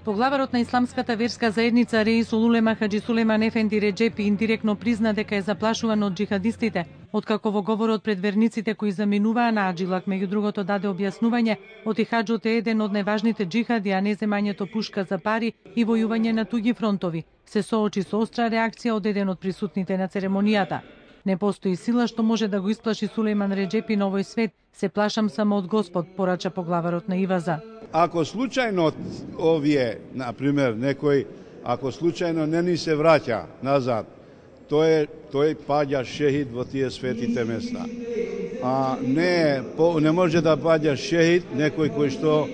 Поглаварот на исламската верска заедница Реисул Улема Хаџи Сулейман Ефенди Реџепи индиректно призна дека е заплашуван од џихадистите, откако во говорот пред верниците кои заминуваа на Аджилак, меѓу другото даде објаснување, отихаџот е еден од најважните џихади, а не земањето пушка за пари и војување на туѓи фронтови. Се соочи со остра реакција од еден од присутните на церемонијата. Не постои сила што може да го исплаши Сулейман Реџепи на овој свет, се плашам само од Господ, порача поглаварот на Иваза. Ако случајно овие, например, некој, ако случајно не ни се враќа назад, тој паѓа шехид во тие светите места. А не може да паѓа шехид некој кој што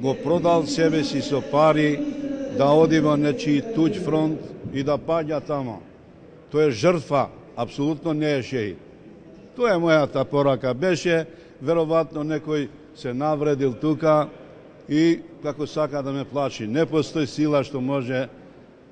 го продал себе си со пари, да оди во нечи туѓ фронт и да паѓа тамо. Тој е жртва, апсолутно не е шехид. Тоа е мојата порака. Беше, веројатно некој се навредил тука и како сака да ме плаши. Не постои сила што може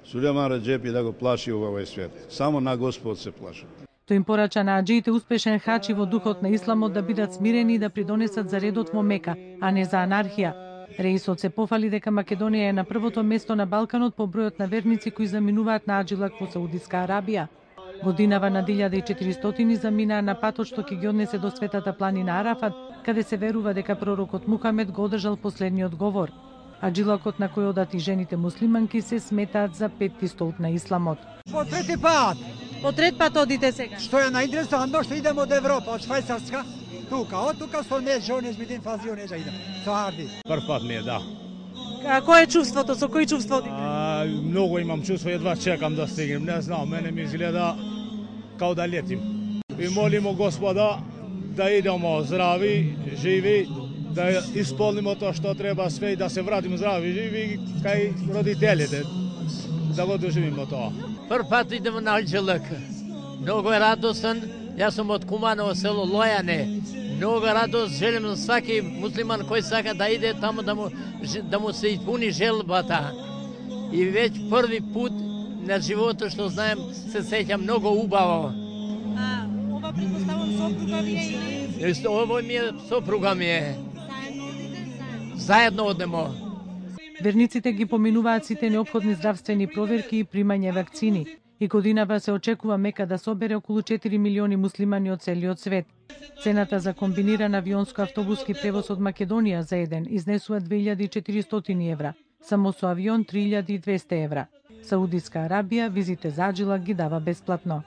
Сулейман Реџепи да го плаши во овој свет. Само на Господ се плаши. Тој им порача на аџиите успешен хач и во духот на исламот да бидат смирени и да придонесат за редот во Мека, а не за анархија. Реисот се пофали дека Македонија е на првото место на Балканот по бројот на верници кои заминуваат на Аджилак во Саудиска Арабија. Годинава на 1400 заминаа на патот што ќе ги однесе до светата планина Арафат, каде се верува дека пророкот Мухамед го одржал последниот говор. Аджилакот на кој одат и жените муслиманки се сметаат за петти столб на исламот. По трети пат. По трет пат одите сега. Што е најинтересантно што идеме од Европа, од Швајцарска, тука. Од тука со не жоне мидин фазионе за идем. Со Арди. Прв пат ми е, да. Кој е чувството? Со кој чувство одите? Многу имам чувство, едва чекам да стигнем. Не знам, мене ми изгледа као да летим. И молимо Господа да идемо здрави, живи, да исполнимо тоа што треба све и да се вратиме здрави, живи кај родителите. Да го доживимо тоа. Прв пат идемо на Аджилак. Многу е радостен. Јас сум од Куманово село Лојане. Многу радост желим на сваки муслиман кој сака да иде таму да му се испуни желбата. И веќе први пут на животот што знаем се сеќам многу убаво. Ова предпоставам сопруга ви е или? Ово ми е сопруга ми е. Заедно однемо. Верниците ги поминуваат сите неопходни здравствени проверки и примање вакцини. И годинава се очекува Мека да собере околу 4 милиони муслимани од целиот свет. Цената за комбиниран авионско-автобуски превоз од Македонија за еден изнесува 2400 евра, само со авион 3200 евра. Саудиска Арабија визите за Аджилак ги дава бесплатно.